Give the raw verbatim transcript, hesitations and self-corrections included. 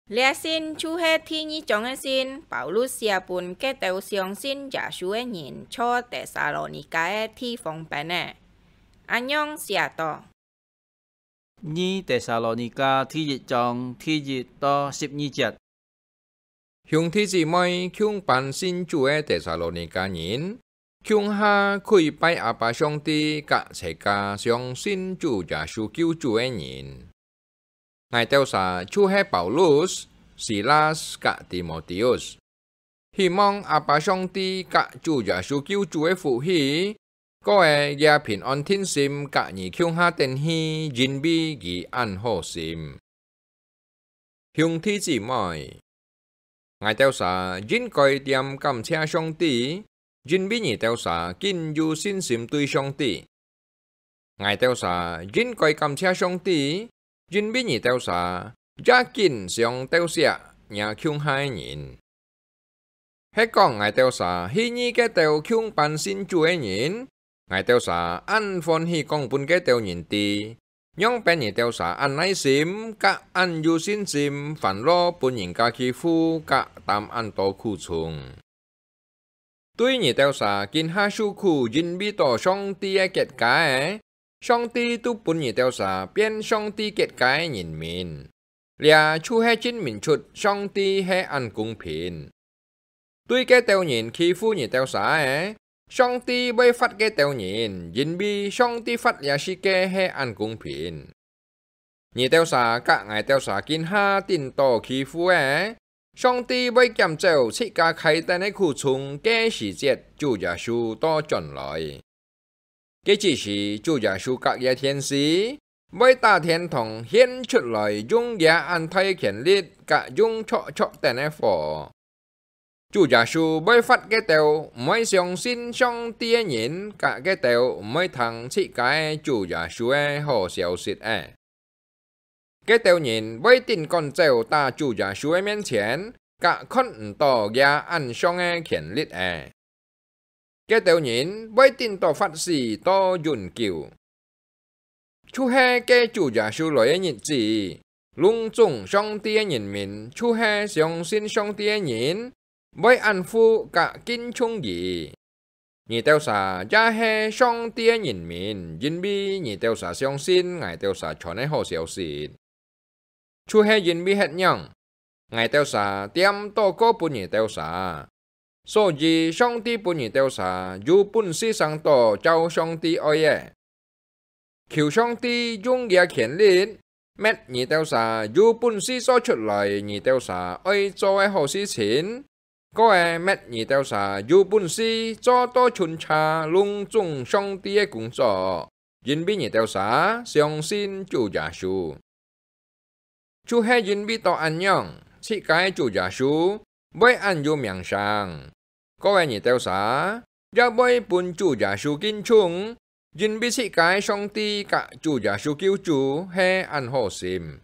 這信就係第二張个信，保羅寫分該兜相信耶穌个人在帖撒羅尼迦个地方般个。恁樣寫到：二帖撒羅尼迦第一章第一到十二節。兄弟姊妹，共般信主个帖撒羅尼迦人，共下跪拜阿爸上帝佮齊家相信主耶穌救主个人。𠊎兜儕就係保羅、西拉佮提摩提。 希望阿爸上帝佮主耶穌救主个福氣，過个這平安定心佮你共下等去，因為佢恁好心。兄弟姊妹，𠊎兜儕應該恬感謝上帝，因為你兜儕緊有信心對上帝。𠊎兜儕應該感謝上帝，因為你兜儕也緊想鬥惜若共下个人。 係講𠊎兜儕去覕該兜共般信主个人，𠊎兜儕恁歡喜講分該兜人知，仰般你兜儕恁耐心佮恁有信心，煩惱分人家欺負佮擔恁多苦衷。對你兜儕今下受苦，因為著上帝个結界，上帝都分你兜儕變上帝結界个人民。 這就係證明出上帝係恁公平。對該兜人欺負你兜儕个，上帝會罰該兜人，因為上帝罰這世界係恁公平。你兜儕佮𠊎兜儕今下頂著欺負个，上帝會減少自家㧡等个苦衷个時節，主耶穌倒轉來。 該之時，主耶穌佮佢个天使會打天堂掀出來，用佢恁大个權力，佮用著著等个火。主耶穌會罰該兜毋會相信上帝个人，佮該兜毋會聽自家个主耶穌个好消息个。 該兜人會頂趕走到主耶穌个面前，佮看毋著佢恁像个權力个。該兜人會頂著罰死到永久。就係該主耶穌來个日子，攏總上帝个人民，就係相信上帝个人， 會恁服佮敬重佢。你兜儕也係上帝个人民，因為你兜儕相信𠊎兜儕傳个好消息。就係因為係恁樣，𠊎兜儕恬禱告分你兜儕。所以上帝分你兜儕有本事生到照上帝愛个。 求上帝用佢个權力，搣你兜儕有本事做出來你兜儕愛做个好事情，過个搣你兜儕有本事做到巡查攏總上帝个工作，因為你兜儕相信主耶穌。 就係因為著恁樣，自家个主耶穌會恁有名聲。過个你兜儕也會分主耶穌敬重，因為自家个上帝佮主耶穌救主係恁好心。